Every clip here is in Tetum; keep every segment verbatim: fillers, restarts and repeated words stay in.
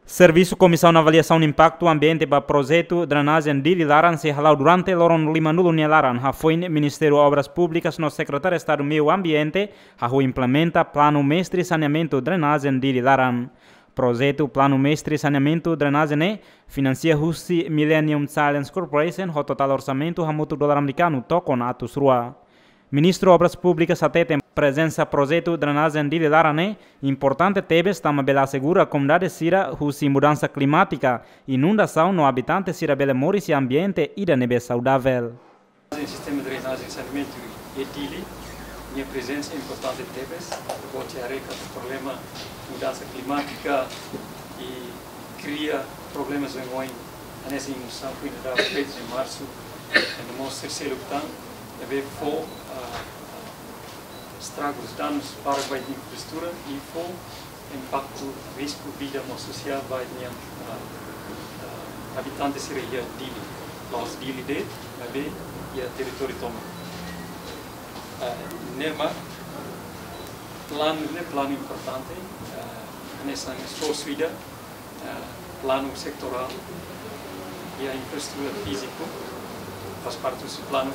Servisu Komisaun Avaliasaun Impaktu Ambiente ba projetu drenajen Dili laran sei hala'o durante loron limanulu nia laran, hafoin Ministériu Obras Públikas no Sekretáriu Estadu Meiu Ambiente hahú implementa planu mestre saneamentu drenajen Dili laran. Projetu planu mestre saneamentu drenajen ne'e finansia husi Millennium Challenge Corporation ho totál orsamentu hamutuk dolar amerikanu tokon atus rua. Ministru Obras Públikas hateten prezensa projetu drenajen Dili laran ne'e importante tebes tanba bele asegura komunidade sira husi mudansa klimátika, inundasaun no abitante sira bele moris iha ambiente ida ne'ebé saudavel. Sistema drenajen saneamentu iha Dili, nia prezensa importante tebes, boot ita haree katak problema mudansa klimátika i kria problemas oioin, hanesan inundasaun foin dadauk feto iha marsu, no mós seluk tan, ne'ebé fó, ah, estragus, danus para ba infraestrutura i fó impaktu, risku vida mós sosiál ba nian, ah, ah, abitante sira iha Dili, la'ós Dili de'it, maibé iha territóriu tomak. Ah, ne'e mak planu ne'e planu importante, ah, hanesan esforsu ida, ah, planu setorál iha infraestrutura fíziku, faz parte husi planu,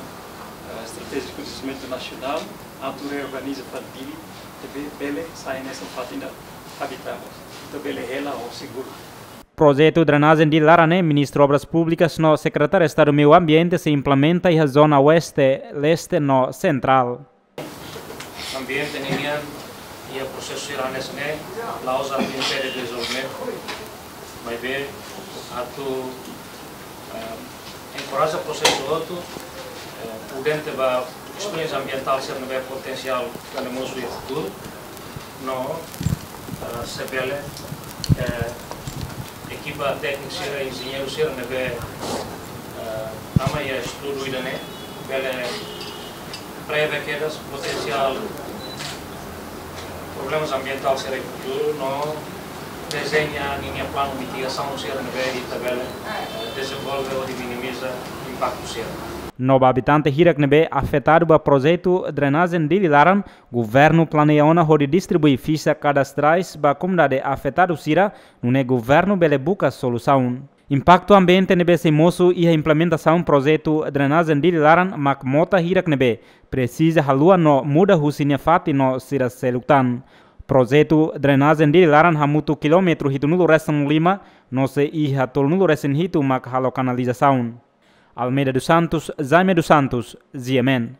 ah, estratéjiku dezenvolvimentu nasionál, atu reorganiza fali Dili, ne'ebé bele sai hanesan fatin ida abitável, atu bele hela ho seguru. Projetu drenajen Dili laran ne'e Ministru Obras Públikas no Sekretáriu Estadu Meiu Ambiente sei implementa iha zona Oeste, Leste no Sentrál. Ambiente ninian iha prosesu sira hanesan ne'e, la'ós atu impede dezenvolvimentu, maibé atu, eh, enkoraja prosesu hotu, eh, prudente ba kestões ambientál sira ne'ebé potensiál ita-nia mosu iha futuru, no, eh, se bele, eh, ekipa tékniku sira, enjeñeiru sira ne'ebé, eh, tama iha estudu ida-ne'e, bele prevee kedas potensiál problemas ambientál sira iha futuru, no dezeña ninia planu mitigasaun sira ne'ebé ita bele, eh, dezenvolve hodi minimiza impaktu sira. No ba abitante hirak ne'ebé afetadu ba projetu drenajen Dili laran, governu planeia ona hodi distribui fixa kadastrais ba komunidade afetadu sira, nune'e governu bele buka solusaun. Impaktu ambiente ne'ebé sei mosu iha implementasaun projetu drenajen Dili laran mak mota hirak ne'ebé presiza haluha no muda husi nia fatin no sira seluk tan. Projetu drenajen Dili laran hamutuk kilómetru hitunulu resin lima, no sei iha tolunulu resin hitu mak halo kanalizasaun. Almeida dos Santos, Jaime dos Santos, G M N.